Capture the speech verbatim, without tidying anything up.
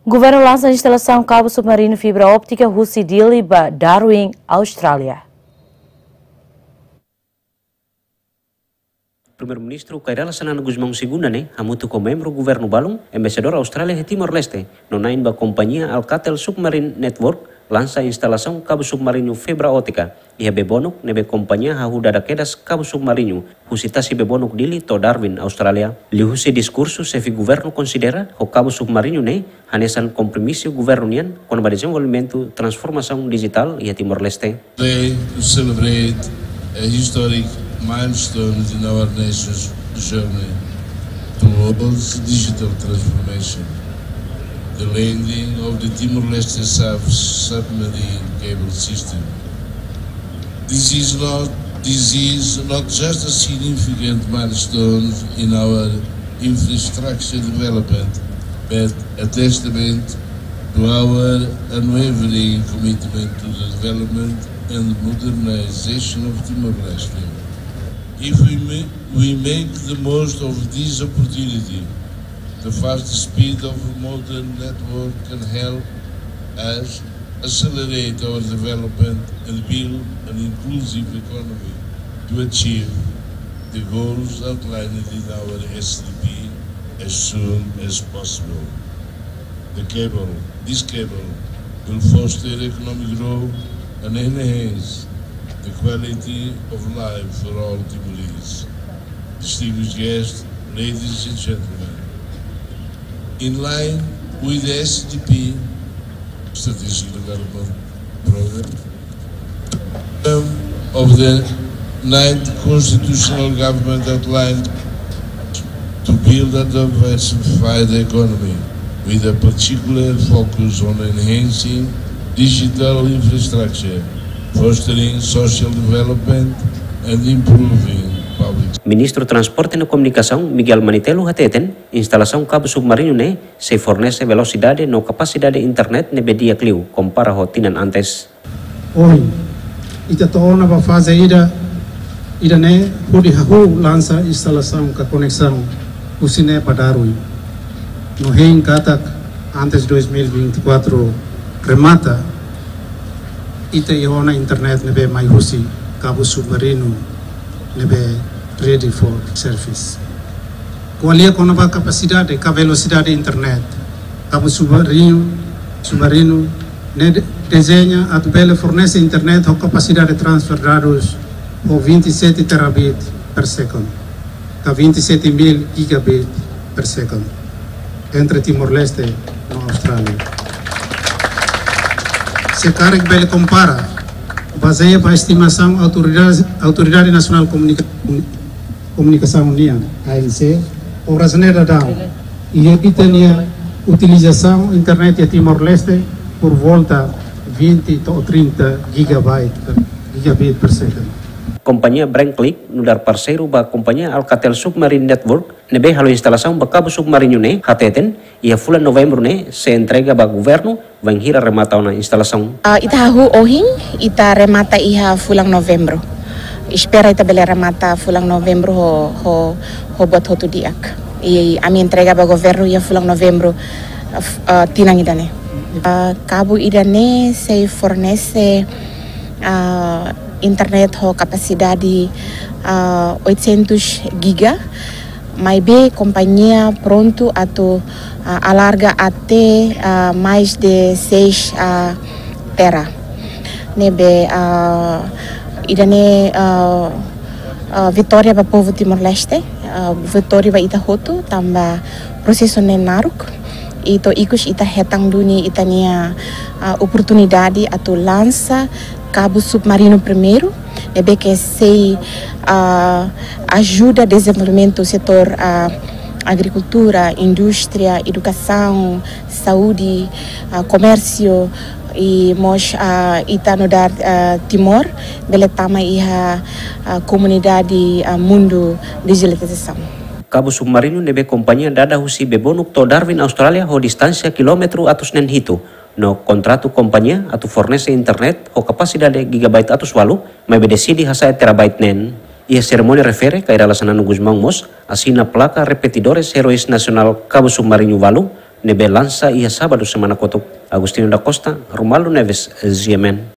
Governu lansa instalasaun kabu submarinu fibra óptika husi Dili ba Darwin, Austrália. Primeiru-Ministru Kay Rala Xanana Gusmão Segunda ne'e, hamutuk ho membru governu balun, embaixadór Austrália iha Timor-Leste, no na'in ba kompañia Alcatel Submarine Network, lansa instalasaun kabu submarinu fibra óptika iha Bebonuk, ne'ebé kompañia hahú dada kedas kabu submarinu husi tasi Bebonuk Dili to'o Darwin, Austrália. Liuhusi diskursu, xefe governu konsidera ho kabu submarinu ne'e hanesan kompromisu governu nian kona-ba dezenvolvimentu transformasaun dijitál iha Timor-Leste. Today to celebrate a historic milestone in our nation's journey towards digital transformation, the landing of the Timor-Leste sub-, submarine cable system. This is not, this is not just a significant milestone in our infrastructure development, but a testament to our unwavering commitment to the development and modernization of Timor-Leste. If we ma-, we make the most of this opportunity, the fast speed of modern network can help us accelerate our development and build an inclusive economy to achieve the goals outlined in our S D P as soon as possible. The cable, this cable will foster economic growth and enhance the quality of life for all Timorese. Distinguished guests, ladies and gentlemen, in line with the S D P, Strategic Development Program, of the ninth Constitutional Government outlined to build a diversified economy with a particular focus on enhancing digital infrastructure, fostering social development, and improving public. Ministru Transporte no Komunikasaun Miguel Manitelu hateten, instalasaun kabu submarinu ne'e sei fornese velosidade no kapasidade internet ne'ebé di'ak liu kompara ho tinan antes. Ohin, ita to'o ona ba faze ida, ida-ne'e hodi hahú lansa instalasaun ka koneksaun husi ne'e ba Darwin. No hein katak antes dois mil e vinte e quatro remata, ita iha ona internet ne'ebé mai husi kabu submarinu ne'ebé ready for service. Ko'alia kona-ba kapasidade ka velosidade internet, kabu submarinu, submarinu ne'e de-, dezeña atu bele fornese internet ho kapasidade transfer dadus ho vinte e sete terabit per second, ka vinte e sete mil gigabit per second, entre Timor-Leste no Austrália. Se karik bele kompara, bazeia ba estimasaun Autoridade, Autoridade Nasionál Komunika-, Komunikasaun nian, A N C, obras ne'e daudaun, iha ita-nia utilizasaun internet iha Timor-Leste por volta vinte to'o trinta gigabyte per, gigabit per second. Kompañia Branclick, nu'udar parseiru ba kompañia Alcatel Submarine Network, ne'ebé halo instalasaun ba kabu submarinu ne'e, hateten, iha fulan Novembru ne'e sei entrega ba governu, bainhira remata ona instalasaun. Ah, ita hahú ohin, ita remata iha fulan Novembru. Espera ita bele remata fulan Novembru ho, ho, ho buat hotu di'ak. I ami entrega ba governu iha fulan Novembru, ah, f-, ah, tinan ida-ne'e. Ah, kabu ida-ne'e sei fornese, ah, internet ho kapasidade, ah, oitocentos giga, maibé kompañia prontu atu, ah, alarga até, ah, mais de seis, ah, tera. Ne'ebé, ah, ida-ne'e, ah, ah, vitória ba povu Timor-Leste, ah, vitória ba ita hotu, tanba prosesu ne'e naruk. I to'o ikus ita hetan duni ita-nia, ah, oportunidade atu lansa kabu submarinu primeiru, ne'ebé ke sei, ah, ajuda dezenvolvimentu setór, ah, agrikultura, indústria, edukasaun, saúde, ah, komérsiu, i mós, ah, ita nu'udar, ah, Timor, bele tama iha, ah, komunidade, ah, mundu dijitalizasaun. Kabu submarinu ne'ebé kompañia dada husi Bebonuk to'o Darwin, Austrália, ho distánsia kilómetru atus neen hitu, no kontratu kompañia atu fornese internet ho kapasidade gigabyte atus ualu, maibé deside hasa'e terabyte neen. Iha serimónia refere, Kay Rala Xanana Gusmão mós asina plaka repetidores heróis nasionál kabu submarinu ualu, ne'ebé lansa iha Sábadu semana kotuk. Agostinho da Costa, Romualdo Neves, G M N.